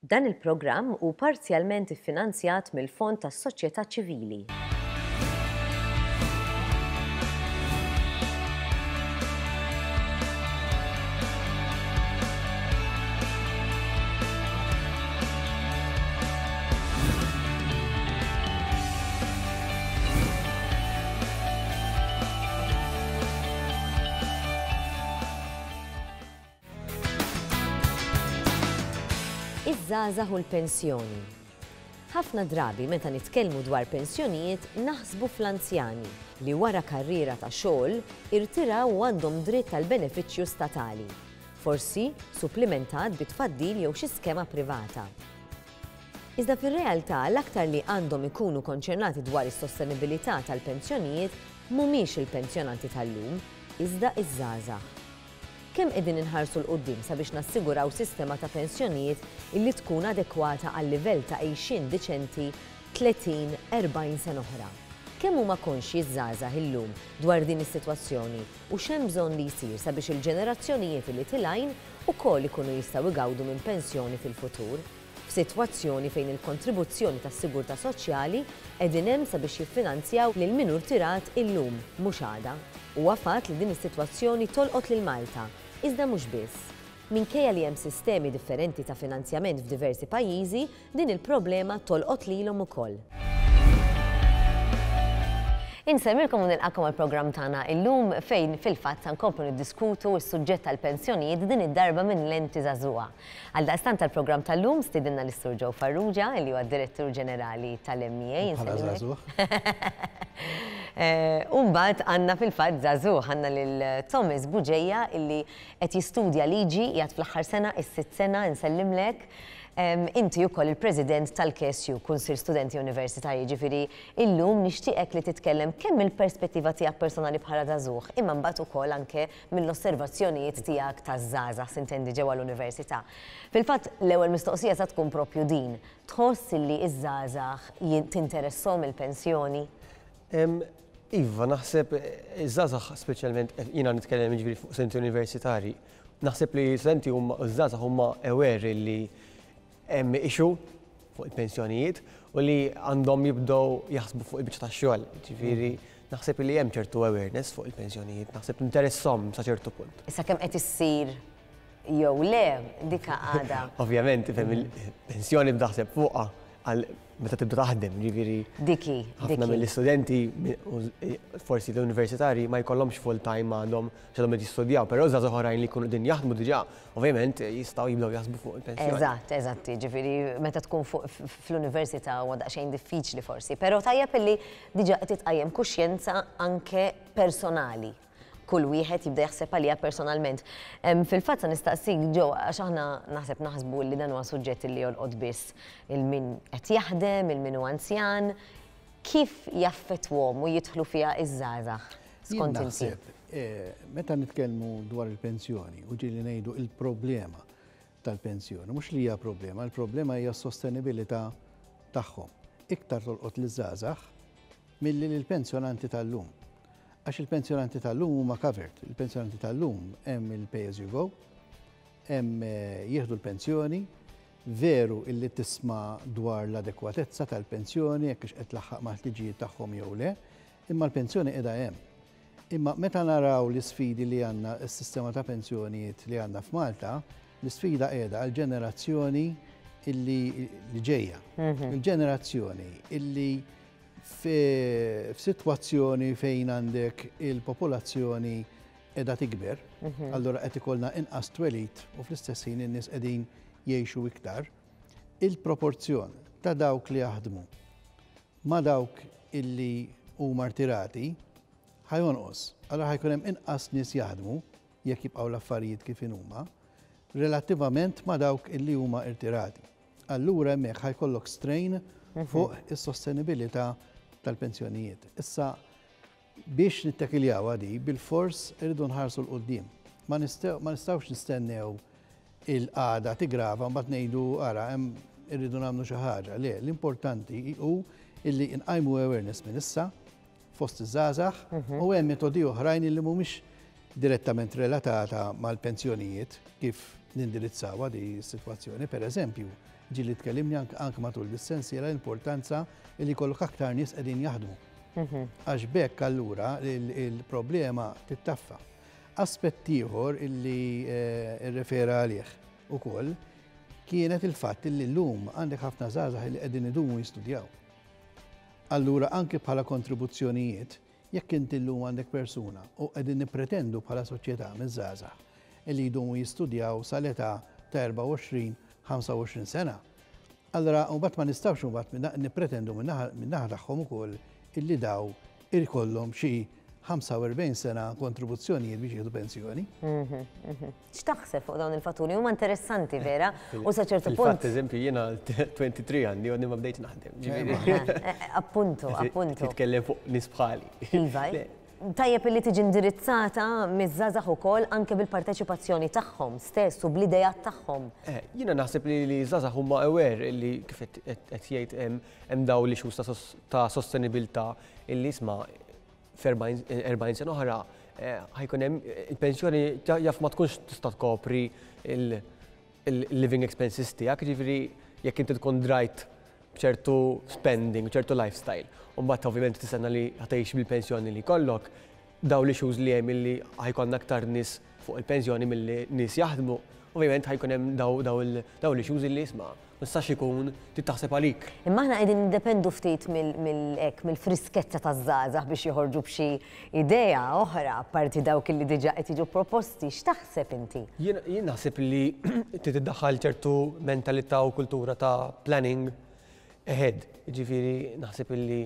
Dan il-programm hu parzjalment iffinanzjat mill-Fond tas-Soċjetà Ċivili. Iż-żgħażagħ u l-pensjoni. Ħafna drabi meta nitkellmu dwar pensjonijiet naħsbu fl-anzjani li wara karriera ta' xogħol irtiraw u għandhom dritt għal benefiċċju statali, forsi supplimentat bi tfaddil jew xi skema privata. Iżda fir-realtà l-aktar li għandhom ikunu konċernati dwar is-sostenibilità tal-pensjonijiet mhumiex il-pensjonanti tal-lum, iżda ż-żgħażagħ. Kemm qegħdin inħarsu 'l quddiem sabiex nassiguraw sistema ta' pensjonijiet illi tkun adekwata għal livell ta' għixien diċenti 30, 40 sena oħra? Kemm huma konxji ż-żgħażagħ illum dwar din is-sitwazzjoni u x'hemm bżonn li jsir sabiex il-ġenerazzjonijiet illi tilgħin ukoll ikunu jistgħu jgawdu minn pensjoni fil-futur? F'sitwazzjoni fejn il-kontribuzzjoni tas-sigurtà soċjali qegħdin hemm sabiex jiffinanzjaw lil min hu rtirat illum, mhux għada. Huwa fatt li din is-sitwazzjoni tolqot lil Malta, iżda mhux biss. Minkejja li hemm sistemi differenti ta' finanzjament f'diversi pajjiżi, din il-problema tolqot lilhom ukoll. Insellmilkom u nilqagħkom għall-programm tagħna illum fejn fil-fatt sa nkomplu niddiskutu s-suġġett tal-pensjonijiet din id-darba minn lenti żagħżugħa. Għaldaqstant għall-programm tal-lum stidinna lis-Sur Joe Farrugia li huwa d-Direttur Ġenerali tal-MEA. Bħala żagħżugħ. U mbagħad għandna fil-fatt żagħżugħ, għandna lil Thomas Bugeja illi qed jistudja liġi, qiegħed fl-aħħar sena, is-sitt sena, insellimlek. Inti wkoll il-President tal-KSU, Kunsill Studenti Universitarji, jiġifieri illum nixtieqek li titkellem kemm mill-perspettiva tiegħek personali bħala żagħżugħ, imma mbagħad ukoll anke mill-osservazzjonijiet tiegħek taż-żgħażagħ, sintendi ġewwa l-università. Fil-fatt, l-ewwel mistoqsija sa tkun proprju din, tħoss illi ż-żgħażagħ tinteresshom il-pensjoni? Iva, naħseb iż-żgħażagħ speċjalment, jiena nitkellem jiġifieri fuq studenti universitarji, naħseb li studenti huma, ż-żgħażagħ huma aware li hemm issue fuq il-pensjonijiet u li għandhom jibdew jaħsbu fuq il-biċċa tax-xogħol. Ġifieri naħseb li hemm ċertu awareness fuq il-pensjonijiet, naħseb interesshom sa ċertu punt. Issa kemm qed issir jew le, dik għadha. Ovvjament, ifhem il-pensjoni b'daħseb fuqha għal meta tibda taħdem, ġifieri. Dik hi. Ħafna mill-istudenti, forsi l-universitarji ma jkollhomx full time għadhom x'għadhom qed jistudjaw, però żgħażagħ oħrajn li jkunu qegħdin jaħdmu diġà, ovvjament jistgħu jibdew jaħsbu fuq il-pensjoni. Eżatt, eżatt, jiġifieri meta tkun fuq fl-università huwa daqsxejn diffiċli forsi, però tajjeb illi diġà qed titqajjem kuxjenza anke personali. Kull wieħed jibda jaħseb għaliha personalment. Fil-fatt sa nistaqsik Joe, għax aħna naħseb naħsbu li dan huwa suġġett li jolqot biss il min qed jaħdem, il min hu anzjan, kif jaffettwhom u jidħlu fiha iż-żgħażagħ skont inti? Naħseb, meta nitkellmu dwar il-pensjoni u ġieli ngħidu il-problema tal-pensjoni, mhux li hija problema, il-problema hija s-sostenibilità tagħhom. Iktar tolqot liż-żgħażagħ milli lill-pensjonanti tal-lum. Għax il-pensjonanti tal-lum huma covered. Il-pensjonanti tal-lum hemm il-pay as you go, hemm jieħdu l-pensjoni, veru illi tisma' dwar l-adekwatezza tal-pensjoni jekk qed tlaħħaq mal-ħtiġijiet tagħhom jew le, imma l-pensjoni qiegħda hemm. Imma meta naraw l-isfidi li għandna s-sistema ta' pensjonijiet li għandna f'Malta, l-isfida qiegħda għal-ġenerazzjoni illi li ġejja. Il-ġenerazzjoni illi f'sitwazzjoni fejn għandek il-popolazzjoni qiegħda tikber, allura qed ikollna inqas twelid u fl-istess ħin in-nies qegħdin jgħixu iktar, il-proporzjon ta' dawk li jaħdmu ma' dawk illi huma rtirati ħa jonqos. Allura ħa jkun hemm inqas nies jaħdmu jekk jibqgħu l-affarijiet kif huma, relattivament ma' dawk illi huma irtirati. Allura hemmhekk ħa jkollok strain fuq is-sostenibilità tal-pensjonijiet. Issa biex nittakiljaw di, bil-fors irridu nħarsu 'l quddiem. Ma nistgħux nistennew il-qagħda tigrava mbagħad ngħidu ara hemm irridu nagħmlu xi ħaġa. Le, l-importanti hu illi nqajmu awareness minn issa fost iż-żgħażagħ u hemm metodi oħrajn illi mhumiex direttament relatata mal-pensjonijiet kif nindirizzawha di s-sitwazzjoni. Per eżempju, ġieli tkellimni anke matul dis-sensiela l-importanza li jkollok aktar nies qegħdin jaħdmu. Għax b'hekk allura il-problema tittaffa. Aspett ieħor illi rrefera għalih ukoll kienet il-fatt illi llum għandek ħafna żgħażagħ illi qegħdin idumu jistudjaw. Allura anke bħala kontribuzzjonijiet, jekk inti llum għandek persuna u qegħdin nippretendu bħala soċjetà miż-żgħażagħ illi jdumu jistudjaw sal-età ta' 24, 25 sena, allura mbagħad ma nistgħux mbagħad nippretendu min-naħa tagħhom ukoll illi daw ikollhom xi 45 sena kontribuzzjonijiet biex jieħdu pensjoni. X'taħseb fuq dawn il-fatturi? Huma interessanti vera u sa ċertu punt. Fil-fatt, eżempju, jiena 23 għandi u għadni ma bdejtx naħdem. Appuntu, appuntu. Titkellem fuq nies bħali. Iva. Tajjeb illi tiġi indirizzata miż-żgħażagħ ukoll anke bil-parteċipazzjoni tagħhom stess u bl-ideat tagħhom. Jiena naħseb li ż-żgħażagħ huma aware illi kif qed jgħid hemm dawn l-issues ta' sostenibilità illi isma' f'40 sena oħra ħajkun hemm il-pensjoni jaf ma tkunx tista' tkopri il-living expenses tiegħek, jiġifieri jekk inti tkun drajt b'ċertu spending, ċertu lifestyle, u mbagħad ovvjament tistenna li ħatgħix bil-pensjoni li jkollok, dawn l-issues li hemm illi ħajkollna aktar nies fuq il-pensjoni milli nies jaħdmu, ovvjament ħajkun hemm dawn l-issues illi isma' ma jistax ikun trid taħseb għalik. Imma aħna qegħdin niddependu ftit mill-hekk mill-friskezza taż-żgħażagħ biex joħorġu b'xi idea oħra apparti dawk illi diġà qed jiġu proposti. X'taħseb inti? Jien naħseb li trid iddaħħal ċertu mentalità u kultura ta' planning ahead. Jiġifieri naħseb illi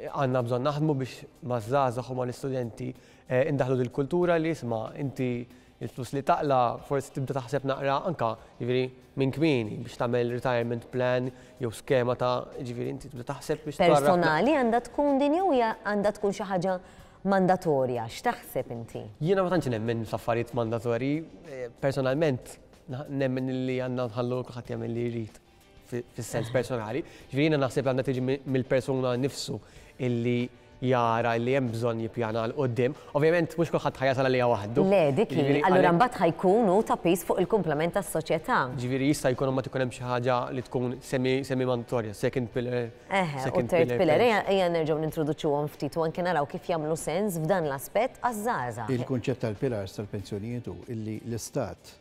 għandna bżonn naħdmu biex maż-żgħażagħ u mal-istudenti indaħħlu dil-kultura li isma' inti il-flus li taqla' forsi tibda taħseb naqra anka jiġifieri minn kmieni biex tagħmel retirement plan jew skema ta' jiġifieri inti tibda taħseb biex tgħarraf. Personali għandha tkun din jew hija għandha tkun xi ħaġa mandatorja? X'taħseb inti? Jiena ma tantx nemmen f'affarijiet mandatorji. Personalment nemmen li għandna nħallu kulħadd jagħmel li jrid. fis-sens personali. Ġifieri jiena naħseb għandha tiġi mill-persuna nnifsu illi jara li hemm bżonn jippjana 'l quddiem. Ovvjament mhux kulħadd ħa jasal għaliha waħdu. Le, dik hi. Allura mbagħad ħa jkun hu ta' piż fuq il-kumplament tas-soċjetà. Ġifieri jista' jkun imbagħad ikun hemm xi ħaġa li tkun semi semi mandatorja, second pillar. Eħe, u third pillar. Ejja ejja nerġgħu nintroduċuhom ftit u anke naraw kif jagħmlu sens f'dan l-aspett għaż-żgħażagħ. Il-kunċett tal-pillars tal-pensjonijiet hu illi l-istat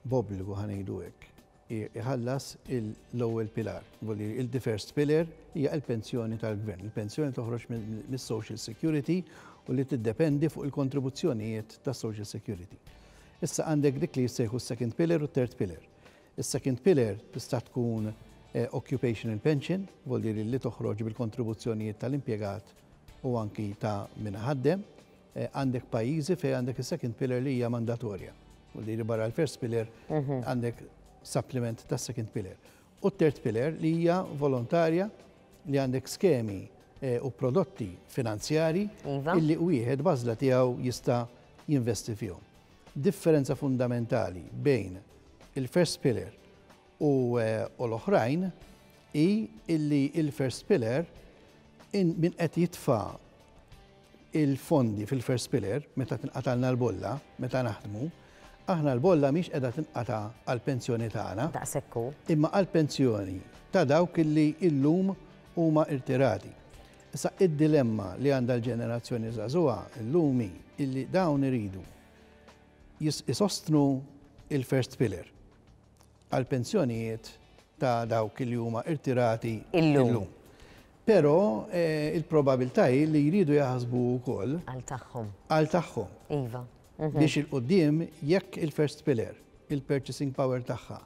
b'obbligu ħa ngħidu hekk, iħallas l-ewwel pilar. Vuol il the first pillar hija l-pensjoni tal-gvern. Il-pensjoni toħroġ mis-Social Security u li tiddependi fuq il-kontribuzzjonijiet tas-Social Security. Issa għandek dik li jissejħu s-second pillar u t-third pillar. Is-second pillar tista' tkun eh, occupational pension, vuol dire li toħroġ bil-kontribuzzjonijiet tal-impjegat u anki ta' min ħaddem. Eh, għandek pajjiżi fejn għandek is-second pillar li hija mandatorja. Vuol dire barra l-first pillar għandek supplement tas second pillar. U third pillar li hija volontarja li għandek skemi eh, u prodotti finanzjari iva. illi wieħed bażla tiegħu jista' jinvesti fihom. Differenza fundamentali bejn il-first pillar u, eh, u l-oħrajn hi illi il-first pillar in min qed jitfa' il-fondi fil-first pillar, meta tinqatalna l-bolla, meta naħdmu, aħna l-bolla mhix qiegħda tinqata' għall-pensjoni tagħna. Daqshekk hu. Imma għall-pensjoni ta' dawk illi illum huma irtirati. Issa id-dilemma li għandha l-ġenerazzjoni żagħżugħa illum hi illi dawn iridu isostnu il-first pillar. għall-pensjonijiet ta' dawk li huma irtirati illum. Però eh, il-probabilità hi li jridu jaħsbu wkoll għal tagħhom. Għal tagħhom. Iva. Mhm. Biex il-qudiem jekk il-first pillar, il-purchasing power tagħha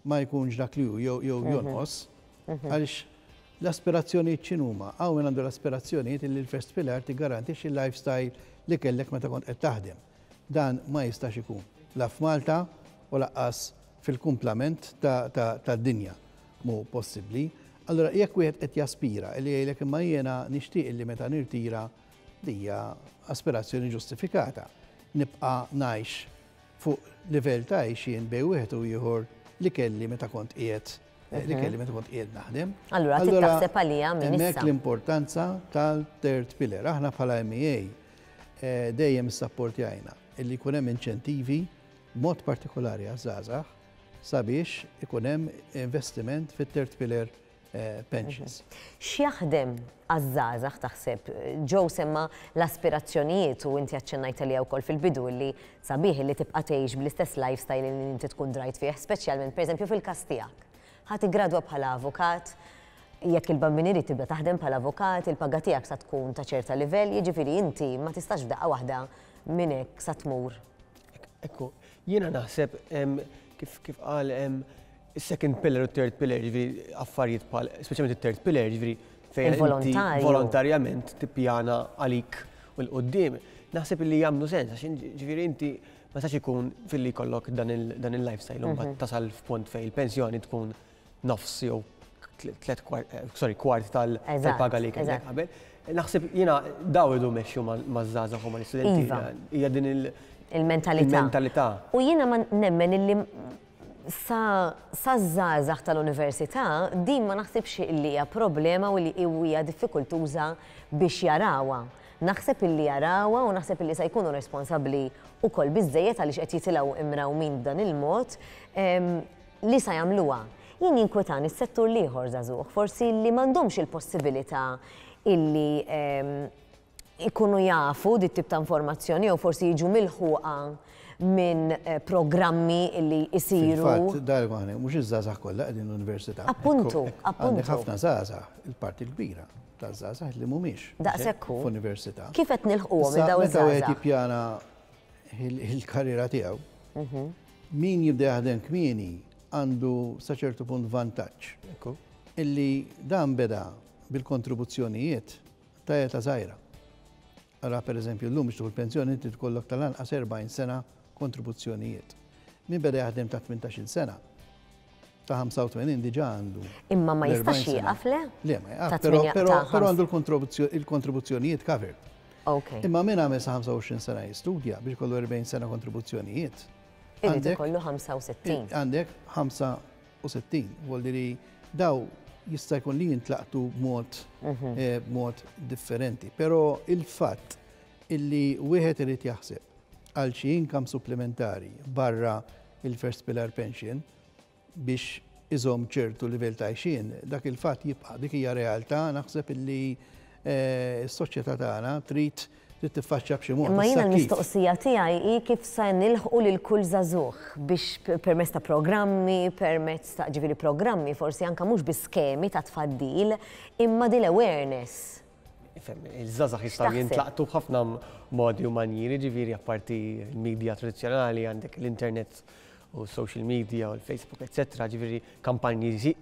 ma jkunx dak li hu jew jew mhm. jonqos, mhm. għaliex l-aspirazzjonijiet x'inhuma? Hawn min għandu l-aspirazzjonijiet li l-first pillar tiggarantixxi l-lifestyle li kellek meta kont qed taħdem. Dan ma jistax ikun, la f'Malta u lanqas fil-kumplament tad-dinja mhu possibbli. Allura jekk wieħed qed jaspira li jgħidlek imma jiena nixtieq li meta nirtira li hija aspirazzjoni ġustifikata, nibqa' ngħix fuq livell ta' għixien bejn wieħed u ieħor li kelli meta kont qiegħed li kelli meta kont qiegħed naħdem. Allura trid taħseb għaliha minn issa. Hemmhekk l-importanza tal-third pillar. Aħna bħala MEA eh, dejjem issapportjajna illi jkun hemm inċentivi. mod partikolari għaż-żgħażagħ, sabiex ikun hemm investiment fit-third pillar pensions. X'jaħdem għaż-żgħażagħ taħseb? Joe semma l-aspirazzjonijiet u inti aċċennajt għaliha wkoll fil-bidu illi sabiħ illi tibqa' tgħix bl-istess lifestyle illi inti tkun drajt fih, speċjalment pereżempju fil-każ tiegħek. Ħa tiggradwa bħala avukat, jekk il-Bambin irid tibda taħdem bħala avukat, il-paga tiegħek sa tkun ta' ċerta livell, jiġifieri inti ma tistax f'daqqa waħda minn hekk sa tmur. Ekku, jiena naħseb kif kif qal is-second pillar u third pillar, ġifieri affarijiet bħal, speċjalment it-third pillar, ġifieri fejn inti volontarjament tippjana għalik u 'l quddiem, naħseb li jagħmlu sens, għax ġifieri inti ma tistax ikun filli jkollok dan il-lifestyle u mbagħad tasal f'punt fejn il-pensjoni tkun nofs jew tlet kwart, sorry, kwart tal-paga li kellek qabel. Naħseb jiena daw idu mexxu maż-żgħażagħ u mal-istudenti. Hija din il- Il-mentalità. Il-mentalità. U jiena ma nemmen illi sa saż-żgħażagħ tal-università din ma naħsibx illi hija problema u li hija diffikultuża biex jarawha. Naħseb illi jarawha u naħseb illi sa jkunu responsabbli wkoll biżżejjed għaliex qed jitilgħu imrawmin b'dan il-mod li sa jagħmluha. Jien jinkwetani s-settur l-ieħor żagħżugħ, forsi li m'għandhomx il-possibilità illi ikunu jafu dit tip ta' informazzjoni jew forsi jiġu milħuqa minn programmi li jsiru. Fil-fatt, darba aħna mhux iż-żgħażagħ kollha qegħdin l-università. Appuntu, appuntu. Għandek ħafna żgħażagħ, il-parti l-kbira taż-żgħażagħ li mhumiex. Daqshekk hu. F'università. Kif qed nilħquhom lil dawn iż-żgħażagħ? Meta wieħed jippjana il-karriera tiegħu, min jibda jaħdem kmieni għandu sa ċertu punt vantaġġ. Illi dan beda bil-kontribuzzjonijiet ta' età żgħira. Ara pereżempju llum biex tieħu l-pensjoni inti tkollok tal-anqas 40 sena kontribuzzjonijiet. Min beda jaħdem ta' 18-il sena, ta' 85 diġà għandu. Imma ma jistax jieqaf le? Le, ma jieqaf, però għandu l-kontribuzzjonijiet covered. Imma min għamel sa 25 sena jistudja biex ikollu 40 sena kontribuzzjonijiet. Irid ikollu 65. Għandek 65, vuol li daw jista' jkun li jintlaqtu b'mod b'mod differenti. Però il-fatt illi wieħed irid jaħseb għal xi income supplementari barra il-first pillar pension biex iżomm ċertu livell ta' għajxien, dak il-fatt jibqa'. Dik hija realtà naħseb illi s-soċjetà tagħna trid trid tiffaċċja b'xi mod. Imma jiena l-mistoqsija tiegħi hi kif se nilħqu lil kull żagħżugħ biex permezz ta' programmi, permezz ta' ġifieri programmi forsi anke mhux biss skemi ta' tfaddil, imma din l-awareness. Ifhem, iż-żgħażagħ jistgħu jintlaqtu b'ħafna modi u manjieri, ġifieri apparti l-media tradizzjonali għandek l-internet u social media u l-Facebook, eccetera, ġifieri kampanji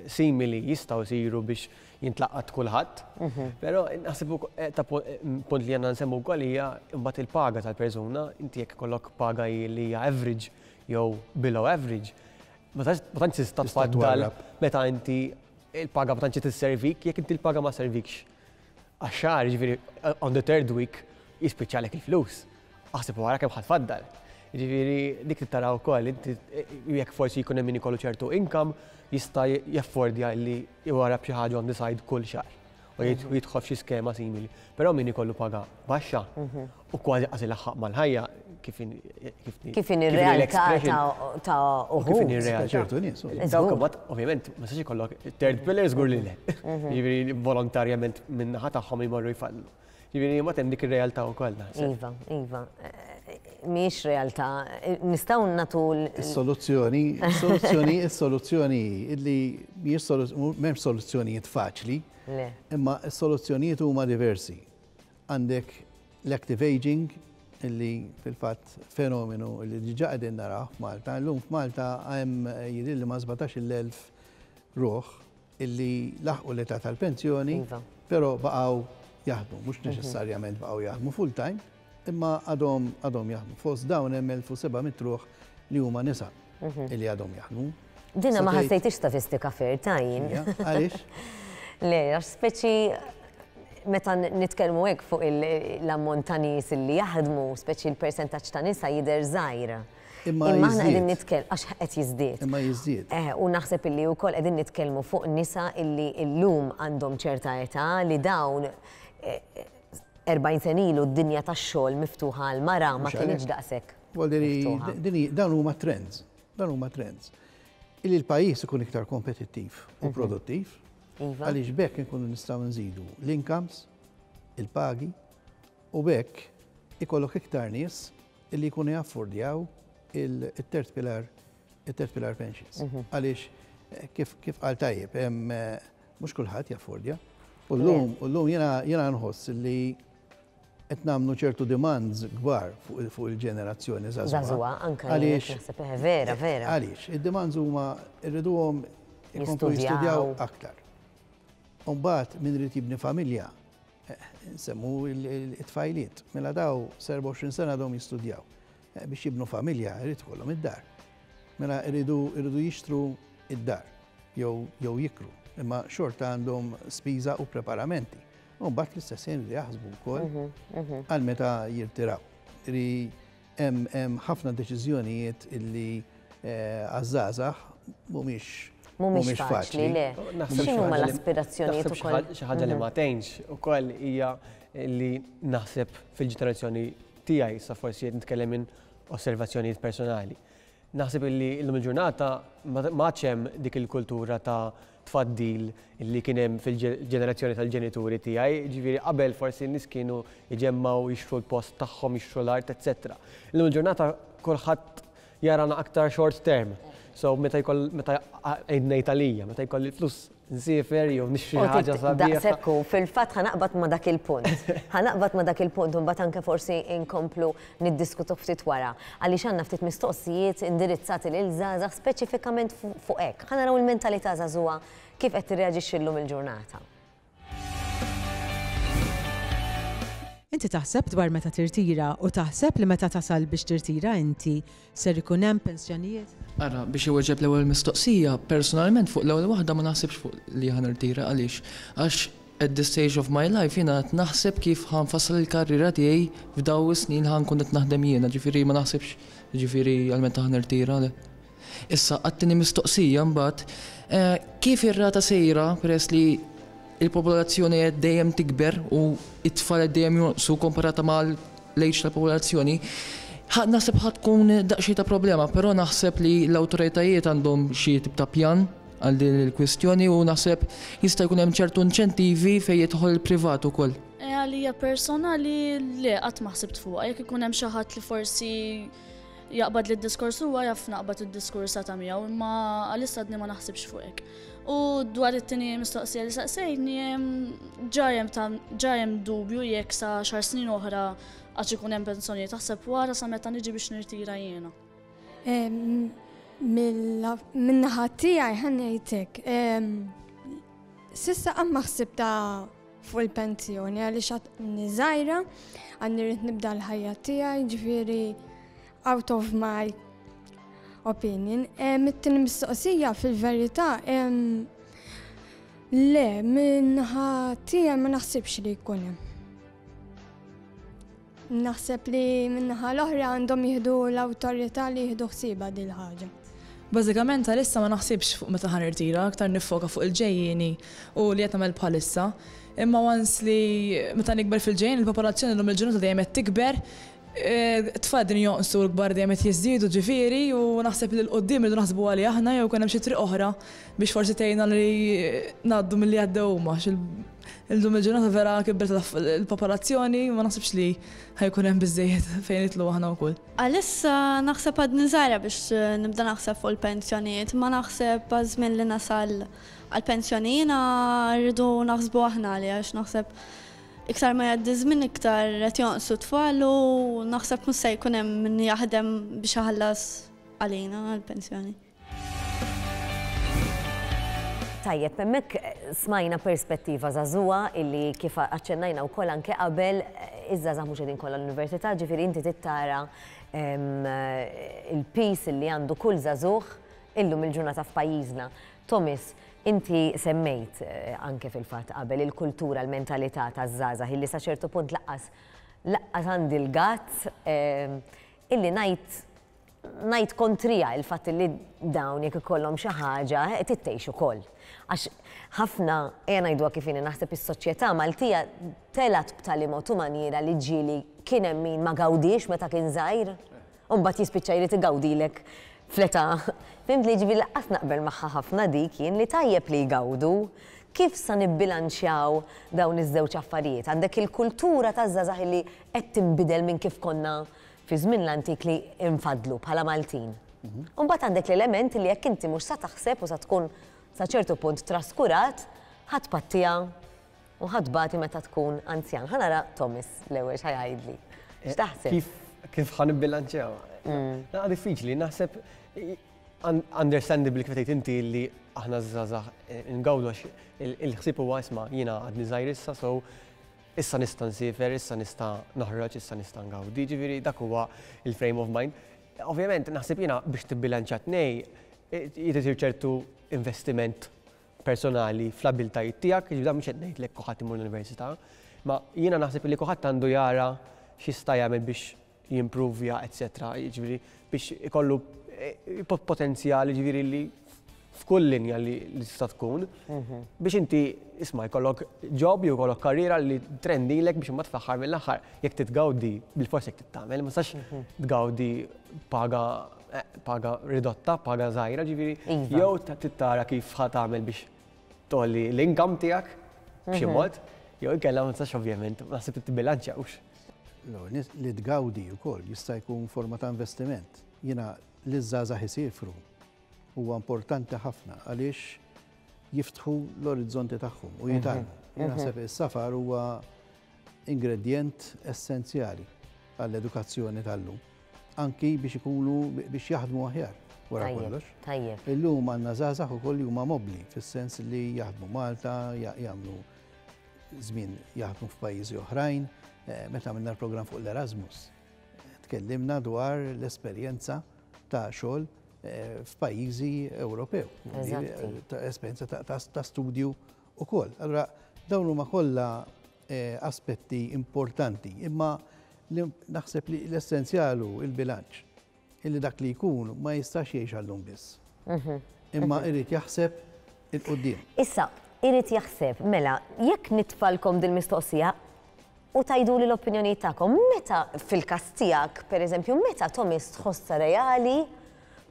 simili jistgħu jsiru biex jintlaqat kulħadd. Però naħseb ta' punt li għandna nsemmu wkoll hija mbagħad il-paga tal-persuna, inti jekk ikollok paga li hija average jew below average, ma tantx tista' tfaddal meta inti il-paga ma tantx tisservik, jekk inti l-paga ma servikx għax-xahar, jiġifieri on the third week jispiċċalek il-flus. Aħseb wara kemm ħa tfaddal. Jiġifieri dik trid tara wkoll inti jekk forsi jkun hemm min ikollu ċertu income jista' jaffordja li jwarrab xi ħaġa on the side kull xahar u jidħol f'xi skema simili. Però min ikollu paga baxxa u kważi qas ilaħħaq mal-ħajja kif kif inhi r-realtà ta' uħud. Kif inhi r-realtà. Ċertu nies. Dawk imbagħad ovvjament ma tistax ikollok third pillar żgur li le. Jiġifieri volontarjament min-naħa tagħhom jmorru jfallu. Jiġifieri mbagħad hemm dik ir-realtà wkoll naħseb. Iva, iva. Mhijiex realtà. Nistgħu nagħtu Is-soluzzjoni, is-soluzzjoni, is-soluzzjoni hi li mhijiex m'hemmx soluzzjonijiet faċli. Le. Imma s-soluzzjonijiet huma diversi. Għandek l-active aging illi fil-fatt fenomenu li diġà qegħdin narawh f'Malta. Illum f'Malta hemm jidhirli ma' 17,000 ruħ illi laħqu l-età tal-pensjoni, però baqgħu jaħdmu, mhux neċessarjament baqgħu jaħdmu full-time, imma għadhom għadhom jaħdmu. Fost dawn hemm 1700 ruħ li huma nisa illi għadhom jaħdmu. Dina ma ħassejtix statistika fair ta' jien. Għaliex? Le, għax speċi meta nitkellmu hekk fuq l-ammont ta' nies illi jaħdmu, speċi l-persentaġġ ta' nisa jidher żgħir. Imma aħna qegħdin nitkellmu għax qed jiżdied. Imma jiżdied. Eh, u naħseb illi wkoll qegħdin nitkellmu fuq nisa illi llum għandhom ċerta età li dawn 40 sena ilu d-dinja tax-xogħol miftuħa għall-mara ma kinitx daqshekk. Vuol dawn huma trends, dawn huma trends. Illi l-pajjiż ikun iktar kompetittiv u produttiv, Iva. għaliex b'hekk inkunu nistgħu nżidu l-incomes, il-pagi, u b'hekk ikollok iktar nies illi jkunu jaffordjaw il-third pillar, il-third pillar pensions. Għaliex kif kif qal tajjeb, hemm mhux kulħadd jaffordja. U llum u llum jiena jiena nħoss li qed nagħmlu ċertu demands kbar fuq il-ġenerazzjoni żagħżugħa. Żagħżugħa, anke jien Għaliex naħseb eh, vera, vera. Għaliex, id-demands huma rriduhom ikomplu Jistudjaw. jistudjaw aktar. U mbagħad min irid jibni familja, nsemmu it-tfajliet, mela daw 24 sena għadhom jistudjaw. Biex jibnu familja jrid ikollhom id-dar. Mela jridu jridu jixtru id-dar jew jew jikru, imma xorta għandhom spiża u preparamenti. U mbagħad fl-istess ħin jridu jaħsbu wkoll għal meta jirtiraw. Ri hemm hemm ħafna deċiżjonijiet illi għaż-żgħażagħ mhumiex Mhumiex faċli, le. Naħseb xi X'inhuma ħaġa li- l-aspirazzjonijiet naħseb xi ukoll? ħaġa- Xi ħaġa li ma tgħinx ukoll hija li naħseb fil-ġenerazzjoni tiegħi sa forsi qed nitkellem minn osservazzjonijiet personali. Naħseb illi llum il-ġurnata ma għadx hemm dik il-kultura ta' tfaddil illi kien hemm fil-ġenerazzjoni tal-ġenituri tiegħi, ġifieri qabel forsi n-nies kienu jġemmgħu jixtru l-post tagħhom, jixtru l-art, eċetera. Illum il-ġurnata kulħadd jarana aktar short term. So meta jkoll meta ngħid għalija, meta jkolli l-flus nsiefer jew nixtri U ħaġa sabiħa. Daqshekk hu, fil-fatt ħa naqbad ma' dak il-punt. Ħa naqbad ma' dak il-punt u mbagħad anke forsi inkomplu niddiskutu ftit wara. Għaliex għandna ftit mistoqsijiet indirizzati lil żgħażagħ speċifikament fuq hekk. Ħa naraw il-mentalità żagħżugħa kif qed tirreaġixxi llum il-ġurnata. Inti taħseb dwar meta tirtira u taħseb li meta tasal biex tirtira inti ser ikun hemm pensjonijiet? Ara, biex iweġeb l-ewwel mistoqsija, personalment fuq l-ewwel waħda ma naħsibx fuq li ħa nirtira għaliex. Għax at this stage of my life jiena qed naħseb kif ħa nfassal il-karriera tiegħi f'daw is-snin ħa nkun qed naħdem jiena, ġifieri ma naħsibx ġifieri għal meta ħa nirtira le. Issa għat-tieni mistoqsija mbagħad, kif ir-rata sejra peress li il-popolazzjoni qed dejjem tikber u it-tfal qed dejjem jonqsu komparata mal-age tal-popolazzjoni, naħseb ħa tkun daqsxejn ta' problema, però naħseb li l-awtoritajiet għandhom xi tip ta' pjan għal din il-kwistjoni u naħseb jista' jkun hemm ċertu inċentivi fejn jidħol il-privat ukoll. Għalija personali le, qatt ma ħsibt fuqha, jekk ikun hemm xi ħadd li forsi jaqbad li d-diskors huwa jaf naqbad id-diskors ta' miegħu, imma għalissa għadni ma naħsibx fuq hekk. U dwar it-tieni mistoqsija li saqsejtni, ġa hemm dubju jekk sa xar snin oħra għax ikun hemm pensjonijiet, taħseb wara sa meta niġi biex nirtira jiena. Min-naħa tiegħi ħa ngħidlek, s'issa qatt ma ħsibta fuq il-pensjoni għaliex għadni żgħira, għadni rrid nibda l-ħajja tiegħi, ġifieri out of my opinion. It-tieni mistoqsija fil-verità, le, min-naħa tiegħi ma naħsibx li jkun hemm. Naħseb li min-naħa l-oħra għandhom jieħdu l-awtorità li jieħdu ħsiebha din il-ħaġa. Bażikament għalissa ma naħsibx fuq meta ħa nirtira, aktar nifoka fuq il-ġejjieni u li qed nagħmel bħalissa. Imma once li meta nikber fil-ġejjin, il-popolazzjoni llum il-ġurnata dejjem qed tikber, tfal din jonqsu l-kbar dejjem qed jiżdiedu ġifieri u naħseb li l-qudiem irridu naħsbu għalih aħna jew jkun hemm xi triq oħra biex forsi tgħinna li ngħaddu milli għaddew huma. Illum il-ġurnata vera kibret il-popolazzjoni ma naħsibx li ħa jkun hemm biżejjed fejn nitlu aħna wkoll. Għalissa naħseb għadni żgħira biex nibda naħseb fuq il-pensjonijiet, ma naħseb għaż-żmien li nasal għall-pensjoni jiena rridu naħsbu aħna għalija għax naħseb iktar ma jgħaddi żmien iktar qed jonqsu tfal u naħseb mhux se jkun hemm min jaħdem biex iħallas għalina għall-pensjoni. Tajjeb, hemmhekk smajna perspettiva żagħżugħa illi kif aċċennajna wkoll anke qabel iż-żgħażagħ mhux qegħdin kollha l-università, ġifieri inti tittara il-piż illi għandu kull żagħżugħ illum il-ġurnata f'pajjiżna. Thomas, inti semmejt anke fil-fatt qabel il-kultura, l-mentalità taż-żgħażagħ illi sa ċertu punt laqqas laqqas għandi l-gazz illi ngħid ngħid kontrija il-fatt li dawn jekk ikollhom xi ħaġa trid ukoll. Għax ħafna ejja ngħiduha kif inhi naħseb is-soċjetà Maltija telgħet b'tali mod u maniera li ġieli kien hemm min ma gawdiex meta kien żgħir. U mbagħad jispiċċa jrid igawdilek fl-età. Fhimt li jiġifieri lanqas naqbel magħha ħafna dik jien li tajjeb li jgawdu. Kif sa nibbilanċjaw dawn iż-żewġ affarijiet? Għandek il-kultura taż-żgħażagħ li qed tinbidel minn kif konna fi żmien l-antik li nfaddlu bħala Maltin. U mbagħad għandek l-element li jekk inti mhux sa taħseb u sa tkun sa ċertu punt traskurat, ħa tpattiha u ħa tbati meta tkun anzjan. Ħa nara Thomas l-ewwel x'ħa jgħidli. X'taħseb? Kif kif ħa nibbilanċjaw? Naqa diffiċli, naħseb understandably kif tgħid inti li aħna żgħażagħ ngawdu għax il-ħsieb huwa isma' jiena għadni żgħir issa so issa nista' nsiefer, issa nista' noħroġ, issa nista' ngawdi. Ġifieri dak huwa il-frame of mind. Ovvjament naħseb jiena biex tibbilanċja tnej jrid isir ċertu investiment personali fl-abiltajiet tiegħek, jiġifieri dan mhux qed ngħidlek kulħadd imur l-università, ma jiena naħseb li kulħadd għandu jara x'jista' jagħmel biex jimpruvja, etc. Jiġifieri biex ikollu eh, potenzjal jiġifieri li f'kull linja li tista' tkun mhm. biex inti isma' jkollok job jew jkollok karriera li trendilek biex imbagħad fl-aħħar mill-aħħar jekk titgawdi bil-fors jekk tittamel, ma sax mhm. tgawdi paga paga ridotta, paga żgħira, ġifieri iva. jew tittara kif ħa tagħmel biex tolli l-income tiegħek b'xi mhm. mod, jew inkella ma tistax ovvjament, naħseb tibbilanċja hux. Li tgawdi wkoll jista' jkun forma ta' investiment. Jiena li żgħażagħ isifru huwa importanti ħafna għaliex jiftħu l-orizzonti tagħhom u jitgħallmu. Mhm. Jien naħseb mhm. is-safar huwa ingredjent essenzjali għall-edukazzjoni tal-lum. Anki biex ikunu biex jaħdmu aħjar wara kollox. Tajjeb. Illum għandna żgħażagħ ukoll li huma mobbli fis-sens li jaħdmu Malta, jagħmlu żmien jaħdmu f'pajjiżi oħrajn. Eh, meta għamilna l-programm fuq l-Erasmus, tkellimna dwar l-esperjenza ta' xogħol eh, f'pajjiżi Ewropew. Ta' esperjenza ta' studju ukoll. Allura dawn huma kollha eh, aspetti importanti, imma naħseb li l-essenzjal hu il-bilanċ. Illi dak li jkun ma jistax jgħix għallum biss. Mhm. Imma mhm. irid jaħseb il-qudiem. Issa, irid jaħseb, mela, jekk nitfalkom dil-mistoqsija u tgħiduli l-opinjoni tagħkom, meta fil-każ tiegħek, pereżempju, meta Thomas tħossha reali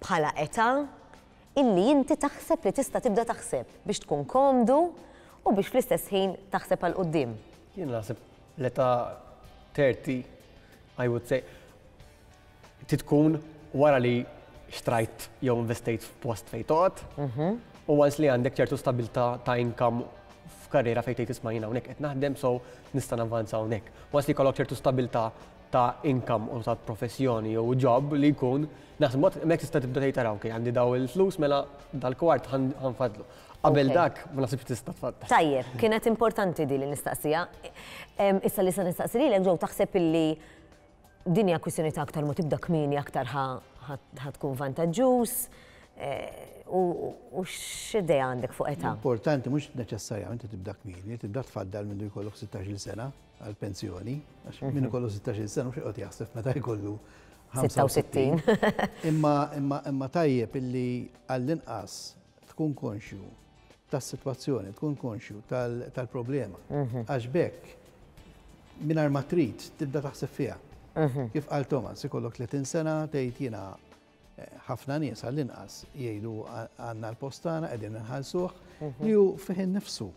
bħala età illi inti taħseb li tista' tibda taħseb biex tkun komdu u biex fl-istess ħin taħseb għal quddiem? Jien naħseb l-età 30, I would say, trid tkun wara li xtrajt jew investejt f'post fejn toqgħod mhm. u once li għandek ċertu stabilità ta' income f'karriera fejn tgħid isma' jiena hawnhekk qed naħdem so nista' navvanza hawnhekk. Once li jkollok ċertu stabilità ta' income u ta' professjoni jew job li jkun, naħseb mod hemmhekk tista' tibda tgħid ara okej għandi daw il-flus mela dal-kwart ħanfadlu. Qabel dak ma naħsibx tista' tfaddal. Tajjeb, kienet importanti di li nistaqsiha. Issa li se nistaqsi lilek Joe taħseb illi din hija kwistjoni ta' aktar ma tibda kmieni aktar ħa tkun vantaġġuż eh, u x'idea għandek fuq età? Importanti mhux neċessarjament tibda kmieni, tibda tfaddal mindu jkollok 16-il sena. għall-pensjoni, għax min ikollu 16 sena mhux joqgħod jaħseb meta jkollu 66. Imma imma imma tajjeb illi għall-inqas tkun konxju tas-sitwazzjoni, tkun konxju tal-problema. Mhm. Għax bekk mingħajr ma trid tibda taħseb fiha. Mhm. Kif qal Thomas, ikollok 30 sena tgħid jiena eh, ħafna nies għall-inqas jgħidu għandna l-post tagħna qegħdin inħallsuh mhm. li hu fih innifsu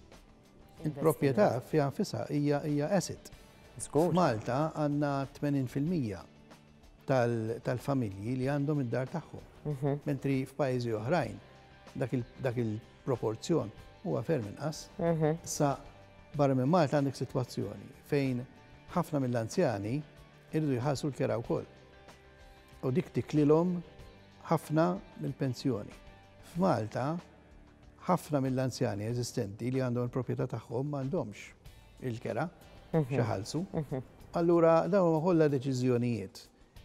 Il-proprjetà fiha nfisha hija hija asset. F'Malta għandna 80% tal-familji li għandhom id-dar tagħhom. Mhm. Mentri f'pajjiżi oħrajn dak il-proporzjon huwa ferm inqas. Mhm. Sa barra minn Malta għandek sitwazzjoni fejn ħafna mill-anzjani irridu jħallsu l-kera wkoll. U dik tiklilhom ħafna mill-pensjoni. F'Malta Ħafna mill-anzjani eżistenti li għandhom il-proprjetà tagħhom m'għandhomx il-kera mhm. xi mhm. Allura dawn huma kollha deċiżjonijiet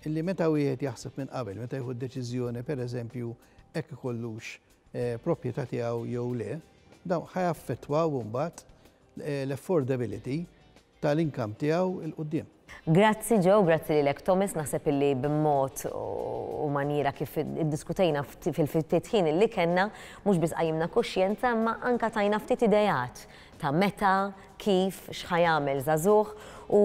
illi meta wieħed jaħseb minn qabel, meta jieħu deċiżjoni pereżempju hekk ikollux eh, proprjetà tiegħu jew le, dawn ħajaffettwaw imbagħad eh, l-affordability tal-income tiegħu 'l quddiem. Grazzi Joe, grazzi lilek Thomas, naħseb illi b'mod u manjiera kif iddiskutejna fil-ftit ħin illi kellna, mhux biss qajjimna kuxjenza imma anka tajna ftit ideat ta' meta, kif, x'ħa jagħmel żagħżugħ u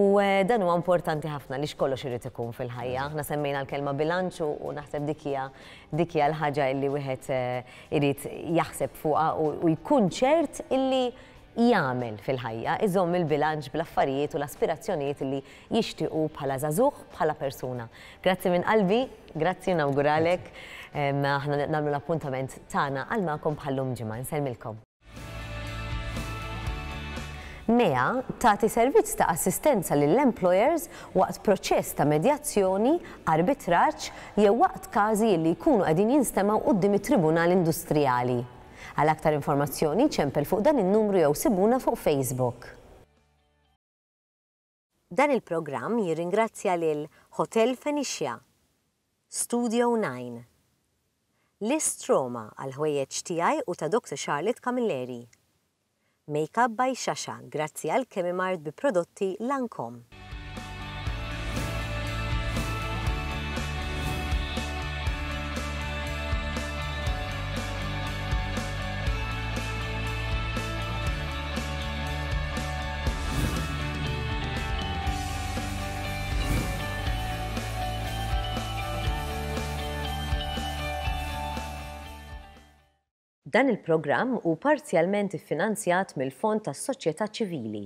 dan huwa importanti ħafna għaliex kollox irid ikun fil-ħajja. Aħna semmejna l-kelma bilanċ u naħseb dik hija dik hija l-ħaġa illi wieħed irid jaħseb fuqha u jkun ċert illi jagħmel fil-ħajja, iżomm il-bilanċ bl-affarijiet u l-aspirazzjonijiet illi jixtiequ bħala żagħżugħ, bħala persuna. Grazzi minn qalbi, grazzi u nawguralek. Aħna nagħmlu l-appuntament tagħna għal magħkom bħal-lum ġimgħa. Insellmilkom. MEA tagħti servizz ta' assistenza lill-employers waqt proċess ta' medjazzjoni, arbitraġġ jew waqt każi illi jkunu qegħdin jinstemgħu quddiem it-Tribunal Industrijali. Għal aktar informazzjoni ċempel fuq dan in-numru jew sibuna fuq Facebook. Dan il-programm jirringrazzja lil Hotel Phoenicia, Studio 9, List Roma għall-ħwejjeġ tiegħi u ta' Doctor Charlotte Camilleri, Makeup by Shasha grazzi għal Chemimart bi prodotti Lancome. Dan il-programm hu parzjalment iffinanzjat mill-Fond tas-Soċjetà Ċivili.